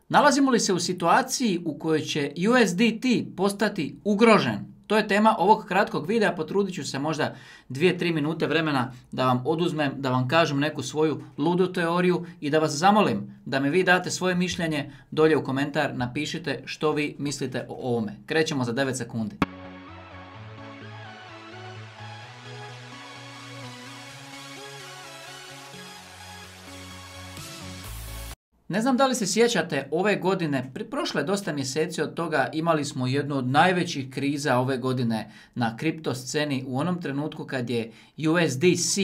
Nalazimo li se u situaciji u kojoj će USDT postati ugrožen? To je tema ovog kratkog videa, potrudit ću se možda 2-3 minute vremena da vam oduzmem, da vam kažem neku svoju ludu teoriju i da vas zamolim da mi vi date svoje mišljenje dolje u komentar, napišite što vi mislite o ovome. Krećemo za 9 sekundi. Ne znam da li se sjećate ove godine, prošlo je dosta mjeseci od toga, imali smo jednu od najvećih kriza ove godine na kripto sceni u onom trenutku kad je USDC,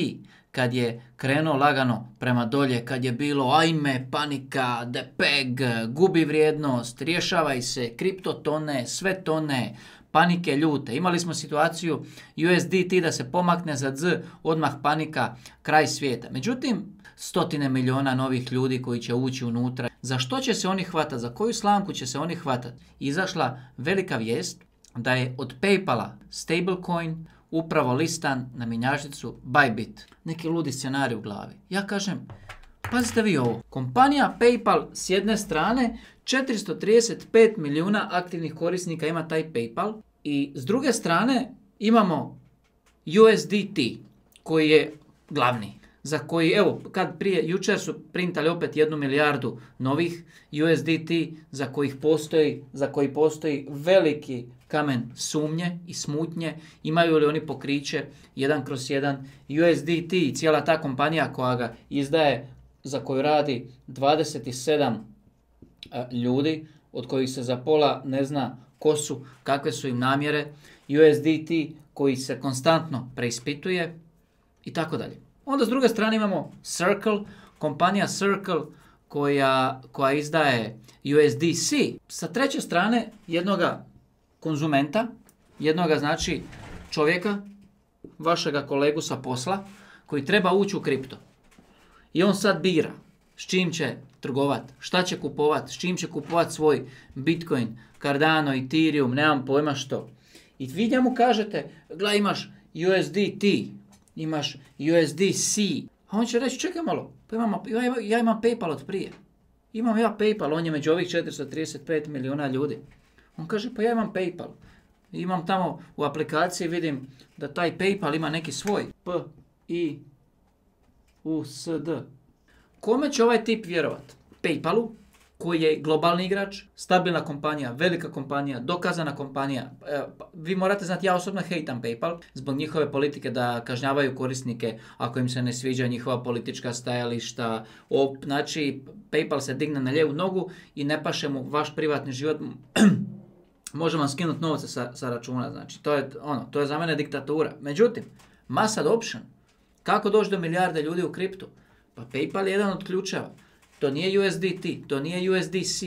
kad je krenuo lagano prema dolje, kad je bilo ajme, panika, depeg, gubi vrijednost, rješavaj se, kripto tone, sve tone, panike ljute. Imali smo situaciju USDT da se pomakne za Z, odmah panika, kraj svijeta. Međutim, stotine miliona novih ljudi koji će ući unutra. Za što će se oni hvatati? Za koju slamku će se oni hvatati? Izašla velika vijest da je od PayPala stablecoin upravo listan na mjenjačnicu Bybit. Neki ludi scenarij u glavi. Ja kažem, pazite vi ovo. Kompanija PayPal s jedne strane 435 milijuna aktivnih korisnika ima taj PayPal i s druge strane imamo USDT koji je glavni. Za koji, evo, jučer su printali opet 1 milijardu novih USDT za koji postoji veliki kamen sumnje i smutnje, imaju li oni pokriće 1/1 USDT i cijela ta kompanija koja ga izdaje, za koju radi 27 ljudi, od kojih se za pola ne zna ko su, kakve su im namjere, USDT koji se konstantno preispituje i tako dalje. Onda s druge strane imamo Circle, kompanija Circle koja izdaje USDC. Sa treće strane jednoga konzumenta, jednoga znači čovjeka, vašega kolegu sa posla, koji treba ući u kripto. I on sad bira s čim će trgovat, šta će kupovat, s čim će kupovat svoj Bitcoin, Cardano, Ethereum, nemam pojma što. I vi njemu kažete, gledaj imaš USDT, imaš USDC, a on će reći, čekaj malo, ja imam PayPal od prije. Imam ja PayPal, on je među ovih 435 milijuna ljudi. On kaže, pa ja imam PayPal. Imam tamo u aplikaciji, vidim da taj PayPal ima neki svoj. P-I-U-S-D. Kome će ovaj tip vjerovat? PayPalu, koji je globalni igrač, stabilna kompanija, velika kompanija, dokazana kompanija. Vi morate znati, ja osobno hejtam PayPal zbog njihove politike da kažnjavaju korisnike ako im se ne sviđa njihova politička stajališta. Znači, PayPal se digne na lijevu nogu i ne paše mu vaš privatni život. Može vam skinuti novce sa računa. Znači, to je za mene diktatura. Međutim, mass adoption. Kako doći do milijarde ljudi u kriptu? Pa PayPal je jedan od ključeva. To nije USDT, to nije USDC.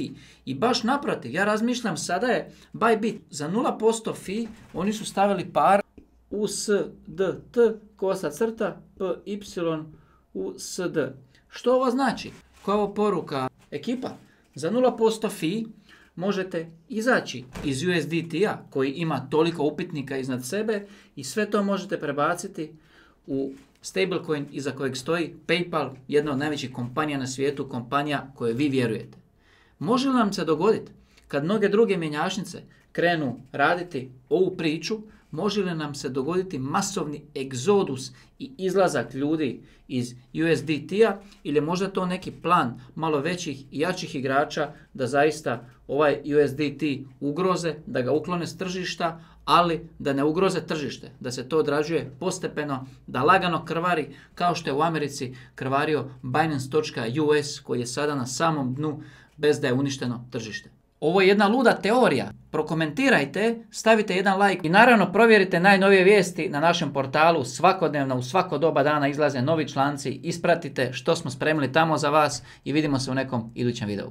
I baš naprotiv, ja razmišljam, sada je Bybit za 0% fee, oni su stavili par USDT, kosa crta, PYUSD. Što ovo znači? Koja je ovo poruka? Ekipa, za 0% fee možete izaći iz USDT-a koji ima toliko upitnika iznad sebe i sve to možete prebaciti u stablecoin iza kojeg stoji PayPal, jedna od najvećih kompanija na svijetu, kompanija kojoj vi vjerujete. Može li nam se dogoditi kad mnoge druge mjenjačnice krenu raditi ovu priču, može li nam se dogoditi masovni egzodus i izlazak ljudi iz USDT-a ili je možda to neki plan malo većih i jačih igrača da zaista ovaj USDT ugroze, da ga uklone s tržišta, ali da ne ugroze tržište, da se to odrađuje postepeno, da lagano krvari kao što je u Americi krvario Binance.us koji je sada na samom dnu bez da je uništeno tržište. Ovo je jedna luda teorija. Prokomentirajte, stavite jedan like i naravno provjerite najnovije vijesti na našem portalu. Svakodnevno u svako doba dana izlaze novi članci. Ispratite što smo spremili tamo za vas i vidimo se u nekom idućem videu.